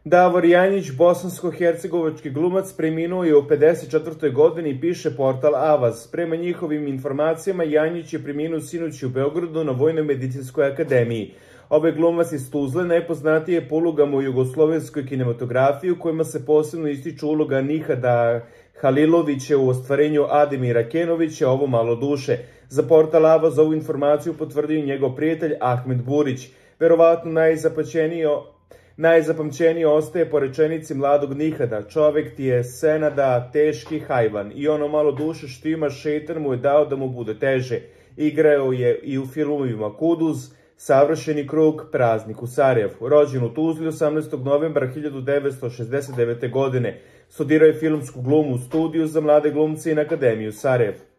Davor Janjić, bosansko-hercegovački glumac, preminuo je u 54. godini, piše portal Avaz. Prema njihovim informacijama, Janjić je preminuo sinoć u Beogradu na Vojno-medicinskoj akademiji. Ovaj glumac iz Tuzle najpoznatiji je po ulogama u jugoslovenskoj kinematografiji, u kojima se posebno ističu uloga Nihada Halilovića u ostvarenju Ademira Kenovića, Ovo malo duše. Za portal Avaz ovu informaciju potvrdio njegov prijatelj Ahmed Burić. Verovatno najzapamćenije ostaje po rečenici mladog Nihada: čovek ti je senada teški hajvan i ono malo duše što ima šeitan mu je dao da mu bude teže. Igrao je i u filmovima Kuduz, Savršeni krug, Praznik u Sarajevu. Rođen u Tuzli 18. novembra 1969. godine. Studirao je filmsku glumu u studiju za mlade glumce i na Akademiju Sarajevo.